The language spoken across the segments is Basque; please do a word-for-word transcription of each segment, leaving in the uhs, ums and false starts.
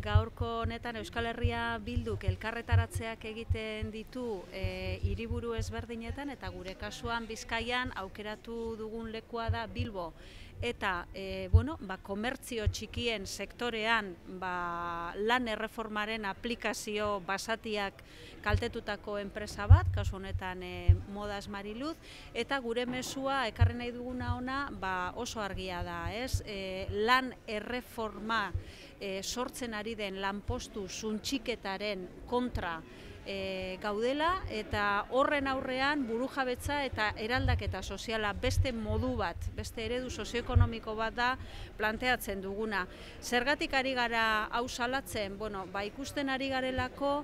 gaurko honetan Euskal Herria Bilduk elkarretaratzeak egiten ditu e, hiriburu ezberdinetan, eta gure kasuan Bizkaian aukeratu dugun lekua da Bilbo. Eta e, bueno, ba, komertzio txikien sektorean ba, lan erreformaren aplikazio basatiak kaltetutako enpresa bat, kasu honetan e, Modas Mariluz, eta gure mezua ekarri nahi duguna ona ba, oso argia da, ez? E, lan erreforma e, sortzen ari den lanpostu suntxiketaren kontra E, gaudela, eta horren aurrean burujabetza eta eraldaketa soziala beste modu bat, beste eredu sozioekonomiko bat da planteatzen duguna. Zergatik ari gara hau salatzen? Bueno, ba, ikusten ari garelako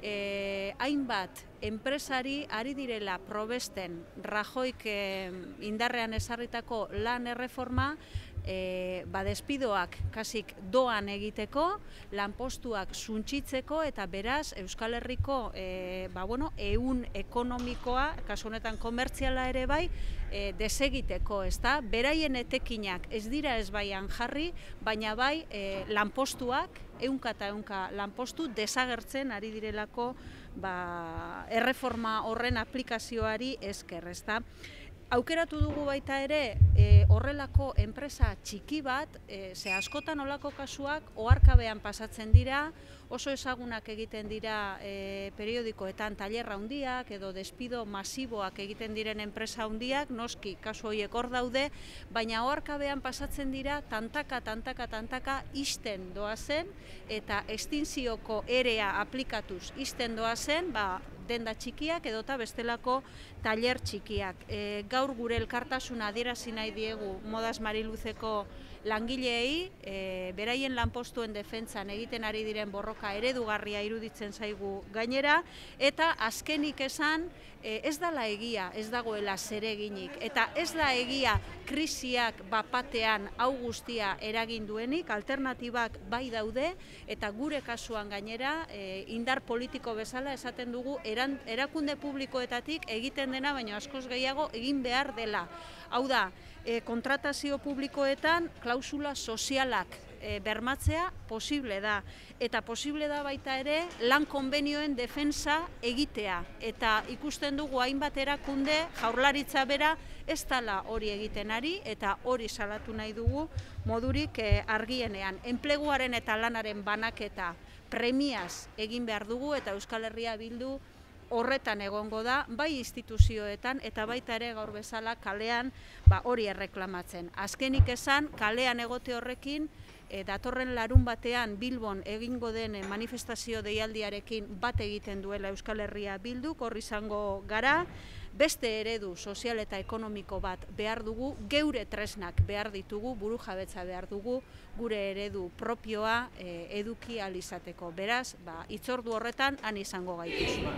e, hainbat enpresari ari direla probesten Rajoik e, indarrean ezarritako lan erreforma E, ba, despidoak kasik doan egiteko, lanpostuak suntxitzeko, eta beraz Euskal Herriko e, ba, bueno, ehun ekonomikoa, kasu honetan komertziala ere bai, e, desegiteko, ezta? Beraien etekinak ez dira ez baian jarri, baina bai e, lanpostuak, ehunka eta ehunka lanpostu desagertzen ari direlako ba, erreforma horren aplikazioari esker, ezta? Aukeratu dugu baita ere e, horrelako enpresa txiki bat, e, ze askotan olako kasuak oharkabean pasatzen dira, oso ezagunak egiten dira e, periodikoetan tailerra handiak edo despido masiboak egiten diren enpresa handiak, noski kasu horiek hor daude, baina oharkabean pasatzen dira tantaka, tantaka, tantaka isten doazen, eta estinzioko erea aplikatuz isten doazen, ba, denda txikiak edota bestelako tailer txikiak. E, gaur gure elkartasuna adierazi nahi diegu Modas Mariluzeko langileei, e, beraien lanpostuen defentsan egiten ari diren borroka eredugarria iruditzen zaigu gainera, eta azkenik esan e, ez dala egia, ez dagoela zereginik, eta ez da egia krisiak bapatean hau guztia eragin duenik, alternatibak bai daude, eta gure kasuan gainera e, indar politiko bezala esaten dugu eran, erakunde publikoetatik egiten dena, baina askoz gehiago egin behar dela. Hau da, e, kontratazio publikoetan klausula sozialak e, bermatzea posible da, eta posible da baita ere lan konbenioen defensa egitea, eta ikusten dugu hainbat erakunde Jaurlaritza bera ez dela hori egiten ari, eta hori salatu nahi dugu modurik e, argienean. Enpleguaren eta lanaren banaketa premiaz egin behar dugu, eta Euskal Herria Bildu horretan egongo da, bai instituzioetan eta baita ere gaur bezala kalean ba, hori erreklamatzen. Azkenik esan, kalean egote horrekin, e, datorren larun batean Bilbon egingo den manifestazio deialdiarekin bat egiten duela Euskal Herria Bilduk, hor izango gara, beste eredu sozial eta ekonomiko bat behar dugu, geure tresnak behar ditugu, burujabetza behar dugu, gure eredu propioa e, eduki ahal izateko. Beraz, ba, hitzordu horretan han izango gaituzu.